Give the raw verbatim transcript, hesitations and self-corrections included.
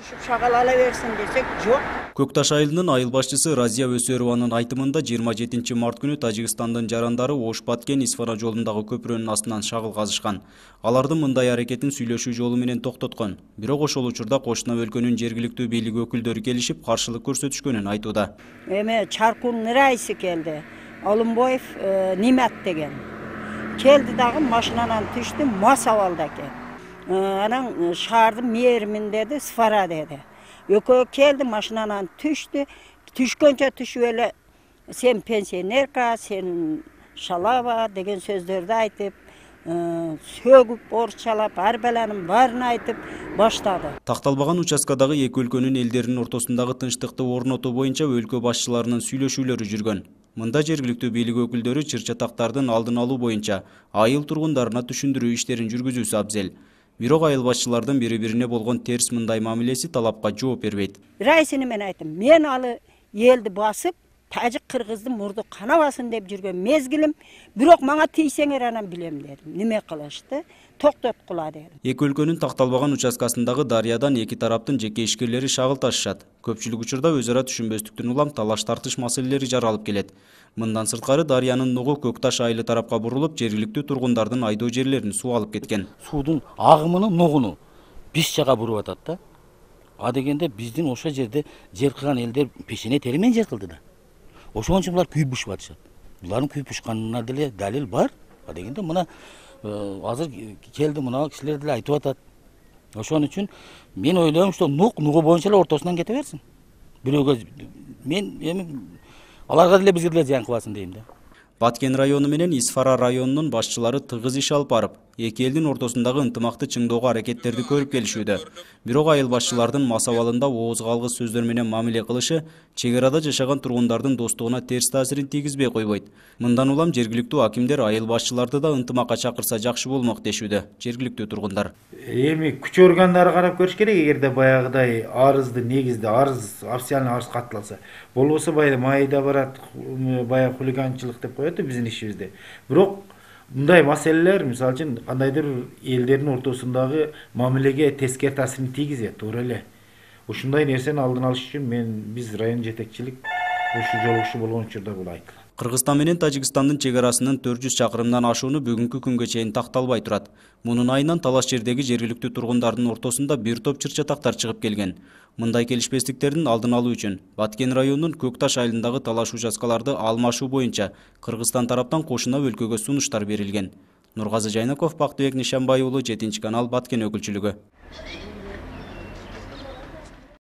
ушуп шагал ала берсин десек жок. Көк Таш айылынын айыл башчысы Разия Өсөрованын айтымында жыйырма жетинчи март күнү Тажикстандын жарандары Ош-Баткен-Исфара жолундагы көпүрөнүн астынан шагыл казышкан. Алардын мындай аракетин сүйлөшүү жолу менен токтоткон. Бирок ошол учурда кошуна өлкөнүн жергиликтүү бийлиги өкүлдөрү келишип каршылык көрсөтүшкөнүн айтууда. Эме Чаркунун райсы келди. Олумбоев Нимат деген. Келди дагы машинанан түштү, Масавалда экен. Анан шаардын мээрмин деди, Сфара деди. Экөө келди, машинанан түштү. Түшкөнчө түшүп эле сен пенсионерка, сен шалава деген сөздөрдү айтып, сөгүп, орчалап, арбаланын баарын айтып баштады. Такталбаган участкадагы эки өлкөнүн элдеринин ортосундагы тынчтыкты орнотуу боюнча өлкө башчыларынын сүйлөшүүлөрү жүргөн. Мында жергиликтүү бийлик өкүлдөрү чыр-чатактардын алдын алуу боюнча айыл тургундарына түшүндүрүү иштерин жүргүзүүсү абзел. Бирок айыл башчылардын бири-бирине болгон терс мындай мамилеси талапка жооп бербейт. Райсыны мен айттым, мен алы элди басып, тажик кыргыздын мурду канабасын деп жүргөн мезгилим, бирок мага тийсеңер анан билем дедим. Неме кылышты? Токтоткула дедим. Эки өлкөнүн такталбаган участкасындагы дарыядан эки тараптын жеке ишкерлери шагыл ташышат. Көпчүлүк учурда өз ара түшүнбөстүктүн улам талаш тартыш маселелери жаралып келет. Мындан сырткары дарыянын нугу Көк Таш айылы тарапка бурулуп, жергиликтүү тургундардын айдоо жерлерин суу алып кеткен. Суудун агымынын нугуну биз жака буруп атат да. А дегенде биздин ошол жерде жер кылган элдер пешене тери менен жер кылды да. Ошон үчүн булар күйүп бушуп атышат. Булардын күйүп бушканына деле далил бар. А дегенде мына азыр келди, мына кишилер деле айтып атат. Ошон үчүн мен ойлойм, что нук нугу боюнча эле ортосунан кете берсин. Бирөөгө мен эми аларга деле бизге деле зыян кылбасын дейм да. Баткен району менен Исфара районунун башчылары тыгыз иш алып барып, эки элдин ортосундагы ынтымакты чыңдоого аракеттерди көрүп келишүүдө. Бирок айыл башчылардын масабалында ооз калгыс сөздөр менен мамиле кылышы чек арада жашаган тургундардын достугуна терс таасирин тийгизбей койбойт. Мындан улам жергиликтүү акимдер айыл башчыларды да ынтымакка чакырса жакшы болмок дешүүдө жергиликтүү тургундар. Эми күч органдары карап көрүш керек, эгерде баягыдай арызды негизде арыз, официальный арыз катталса. Болбосо баягы майда барат, баягы хулиганчылык деп коет биздин ишибизде. Бирок мындай маселелер, мисалы үчүн, кандайдыр элдердин ортосундагы мамилеге тескери таасирин тийгизет, туура эле. Ушундай нерсени алдын алыш үчүн мен биз район жетекчилик ушу жолугушуу болгон учурда бул айтылат. Кыргызстан менен Тажикстандын чек арасынын төрт жүз чакырымдан ашууну бүгүнкү күнгө чейин такталбай турат. Мунун айынан талаш жердеги жергиликтүү тургундардын ортосунда бир топ чыр-чатактар чыгып келген. Мындай келишпестиктердин алдын алуу үчүн Баткен районунун Көк Таш айылындагы талаш участкаларды алмашуу боюнча Кыргызстан тараптан кошуна өлкөгө сунуштар берилген. Нургазы Жайнаков, Бактыбек Нишанбай уулу, жетинчи канал, Баткен өкүлчүлүгү.